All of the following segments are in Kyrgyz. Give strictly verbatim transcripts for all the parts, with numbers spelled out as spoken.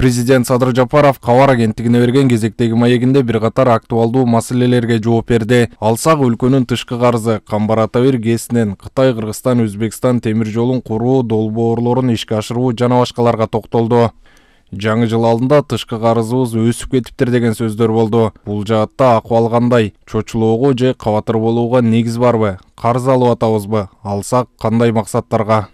Президент Садыр Жапаров кабар агенттигине берген кезектеги маегинде бир катар актуалдуу маселелерге жооп берди. Алсак өлкөнүн тышкы карызы, Камбар-Ата-бир ГЭСинен Кытай, Кыргызстан, Өзбекстан темир жолун куруу, долбоорлорун ишке ашыруу жана башкаларга токтолду. Жаңы жыл алдында тышкы карызыбыз өсүп кетиптир деген сөздөр болду. Бул жаатта акыбал кандай? Чочулоого же кабатыр болууга негиз барбы? Карыз алып атабызбы? Алсак кандай максаттарга?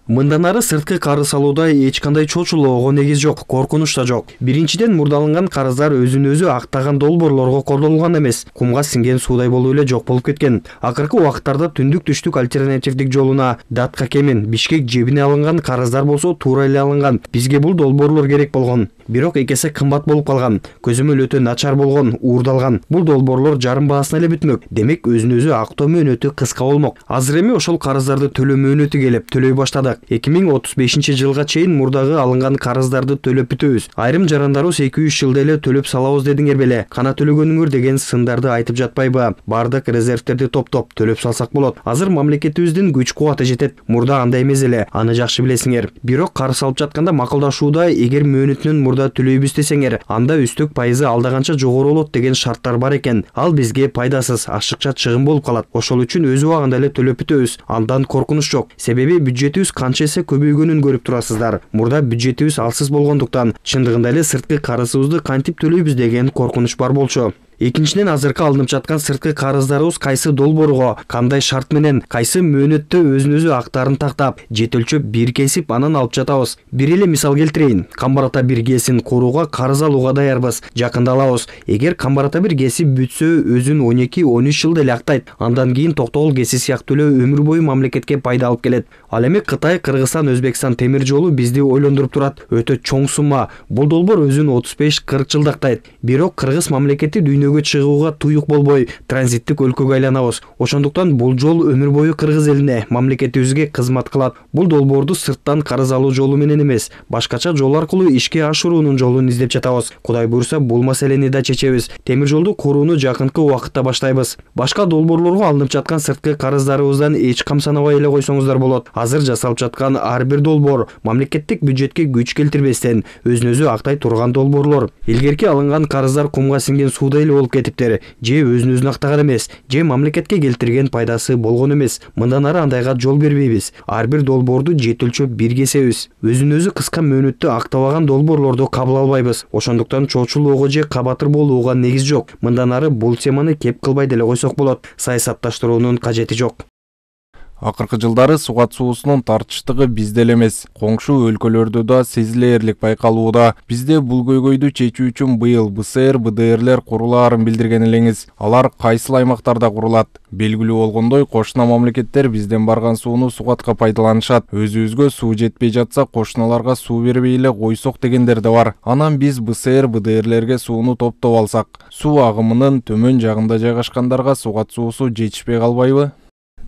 Мындан ары сырткы карыз алууда эч кандай чочулоого негиз жок, коркунуч да жок. Биринчиден, мурдаланган карыздар өзүн өзү актаган долбоорлорго колдонулган эмес, кумга сиңген суудай болуп эле жок болуп кеткен. Акыркы убакыттарда түндүк түштүк альтернативдик жолуна Датка Кемин, Бишкек жебине алынган карыздар болсо туура эле алынган. Бизге бул долбоорлор керек болгон. Бирок эки эсе кымбат болуп калган, көзөмөл өтө начар болгон, уурдалган. Бул долбоорлор жарым баасына эле бүтмөк. Демек өзүн өзү актоо мөөнөтү кыска болмок. Азыр эми ошол карыздарды төлөө мөөнөтү келип, төлөй баштадык. эки миң отуз бешинчи жылга чейин мурдагы алынган карыздарды төлөп бүтөбүз. Айрым жарандарыбыз эки үч жылда эле төлөп салабыз дедиңер беле. Кана төлөгөнүңөр деген сындарды айтып жатпайбы? Бардык резервтерди топтоп төлөп салсак болот. Азыр мамлекетибиздин күч кубаты жетет. Мурда андай эмес эле, аны жакшы билесиңер. Бирок карыз алып жатканда макулдашууда эгер мөөнөтүнөн мурда төлөйбүз десеңер, анда үстүк пайызы алдаганча жогору болот деген шарттар бар экен. Ал бизге пайдасыз, ашыкча чыгым болуп калат. Ошол үчүн өз убагында эле төлөп бүтөбүз. Андан коркунуч жок. Себеби бюджетибиз канча эсе көбөйгөнүн көрүп турасыздар. Мурда бюджетибиз алсыз болгондуктан чындыгында эле сырткы карызыбызды кантип төлөйбүз деген коркунуч бар болчу. Экинчиден, азыркы алынып жаткан сырткы карыздарыбыз кайсы долбоорго, кандай шарт менен, кайсы мөөнөттө өзүн өзү актарын тактап, жетөлчөп бир кесип анан алып жатабыз. Бир эле мисал келтирейин. Камбар-Ата-бир ГЭСин курууга карыз алууга даярбыз, жакында алабыз. Эгер Камбар-Ата-бир ГЭСи бүтсө, өзүн он эки он үч жылда эле актайт. Андан кийин Токтогул ГЭСи сыяктуу эле өмүр бою мамлекетке пайда алып келет. Ал эми Кытай, Кыргызстан, Өзбекстан темир жолу бизди ойлондуруп турат. Өтө чоң сумма. Бул долбоор өзүн отуз беш кырк жылда актайт. Бирок Кыргыз мамлекети дүйнөгө чыгууга туюк болбой, транзиттик өлкөгө айланабыз. Ошондуктан бул жол өмүр бою Кыргыз элине, мамлекетибизге кызмат кылат. Бул долбоорду сырттан карыз алуу жолу менен эмес, башкача жол аркылуу ишке ашыруунун жолун издеп жатабыз. Кудай буйрса, бул маселени да чечебиз. Темир жолду курууну жакынкы убакытта баштайбыз. Башка долбоорлорго алынып жаткан сырткы карыздарыбыздан эч кам санабай эле койсоңуздар болот. Азыр жасалып жаткан ар бир долбоор мамлекеттик бюджетке күч келтирбестен өзүн өзү актай турган долбоорлор. Илгерки алынган карыздар кумга сиңген суудай эле болуп кетиптер. Же өзүн өзү актаган эмес, же мамлекетке келтирген пайдасы болгон эмес. Мындан ары андайга жол бербейбиз. Ар бир долбоорду жетөлчөп бир кесебиз. Өзүн өзү кыска мөөнөттө актабаган долбоорлорду кабыл албайбыз. Ошондуктан чочулоого же кабатыр болууга негиз жок. Мындан ары бул теманы кеп кылбай деле койсок болот. Саясатташтыруунун кажети жок. Акыркы жылдары сугат суусунун тартыштыгы бизде эле эмес, коңшу өлкөлөрдө да сезилээрлик байкалууда. Бизде бул көйгөйдү чечүү үчүн быйыл БСР, БДРлер курулаарын билдирген элеңиз. Алар кайсыл аймактарда курулат? Белгилүү болгондой, кошуна мамлекеттер бизден барган сууну сугатка пайдаланышат. Өзүбүзгө суу жетпей жатса, кошуналарга суу бербей эле койсок дегендер да бар. Анан биз БСР, БДРлерге сууну топтоп алсак, суу агымынын төмөн жагында жайгашкандарга сугат суусу жетишпей калбайбы?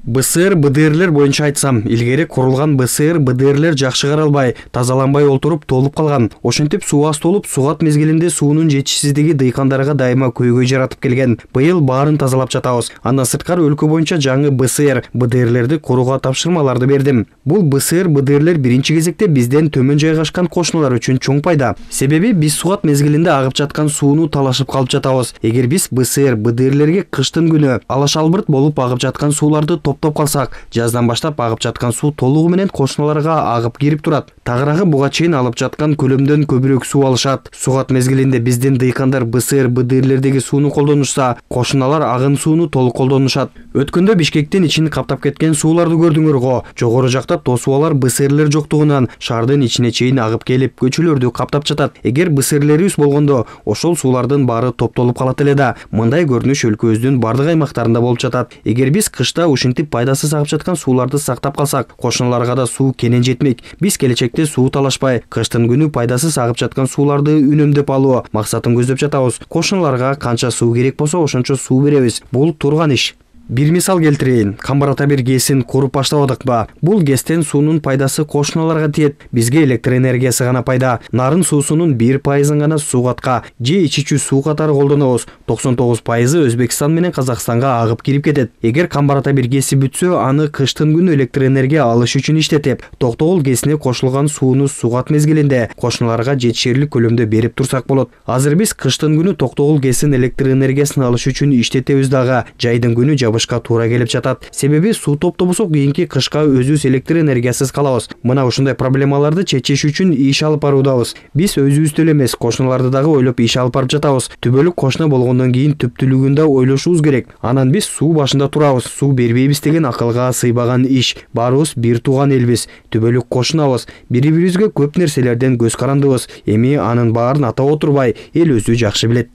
БСР, БДРлер боюнча айтсам, илгери курулган БСР, БДРлер жакшы каралбай, тазаланбай олтуруп толуп калган. Ошентип суу аз толуп, сугат мезгилинде суунун жетишсиздиги дыйкандарга дайыма көйгөй жаратып келген. Быйыл баарын тазалап жатабыз. Андан сырткары өлкө боюнча жаңы БСР, БДРлерди курууга тапшырмаларды бердим. Бул БСР, БДРлер биринчи кезекте бизден төмөн жайгашкан кошуналар үчүн чоң пайда. Себеби биз сугат мезгилинде агып жаткан сууну талашып калып жатабыз. Эгер биз БСР, БДРлерге кыштын күнү алаш албырт болуп агып жаткан сууларды топтоп калсак, жаздан баштап агып жаткан суу толугу менен кошуналарга агып кирип турат. Тагыраагы буга чейин алып жаткан көлөмдөн көбүрөөк суу алышат. Сугат мезгилинде биздин дыйкандар БСР, БДРлердеги сууну колдонушса, кошуналар агын сууну толук колдонушат. Өткөндө Бишкектин ичин каптап кеткен сууларды көрдүңөр го. Жогору жакта тосубалар БСРлер жоктугунан шаардын ичине чейин агып келип, көчөлөрдү каптап жатат. Эгер БСРлерибиз болгондо, ошол суулардын баары топтолуп калат эле да. Мындай көрүнүш өлкөбүздүн бардык аймактарында болуп жатат. Эгер биз кышта ушинтип пайдасыз агып жаткан сууларды сактап калсак, кошуналарга да суу кенен жетмек. Биз келечекте суу талашпай, кыштын күнү пайдасыз агып жаткан сууларды үнөмдөп алуу максатын көздөп жатабыз. Кошуналарга канча суу керек болсо, ошончо суу беребиз. Бул турган иш. Бир мисал келтирейин. Камбар ата бир ГЭСин куруп баштабадыкпы? Бул ГЭСтен суунун пайдасы кошуналарга тиет. Бизге электр энергиясы гана пайда. Нарын суусунун бир пайызын гана суу катка же ичүүчү суу катары колдонобуз. токсон тогуз пайызы Өзбекстан менен Казакстанга агып кирип кетет. Эгер Камбар ата бир ГЭСи бүтсө, аны кыштын күнү электр энергия алыш үчүн иштетип, Токтогул ГЭСине кошулган сууну сугат мезгилинде кошуналарга жетишерлик көлөмдө берип турсак болот. Азыр биз кыштын күнү Токтогул ГЭСин электр энергиясын алыш үчүн иштетебиз дагы. Жайдын күнү жабышка туура келип жатат. Себеби суу топтобосок кийинки кышка өзүбүз электр энергиясыз калабыз. Мына ушундай проблемаларды чечиш үчүн иш алып баруудабыз. Биз өзүбүздү эле эмес, кошуналарды дагы ойлоп иш алып барып жатабыз. Түбөлүк кошуна болгондон кийин түптүүлүгүн да ойлошубуз керек. Анан биз суу башында турабыз, суу бербейбиз деген акылга сыйбаган иш. Баарыбыз бир тууган элбиз, түбөлүк кошунабыз. Бири-бирибизге көп нерселерден көз карандыбыз. Эми анын баарын атап отурбай, эл өзү жакшы билет.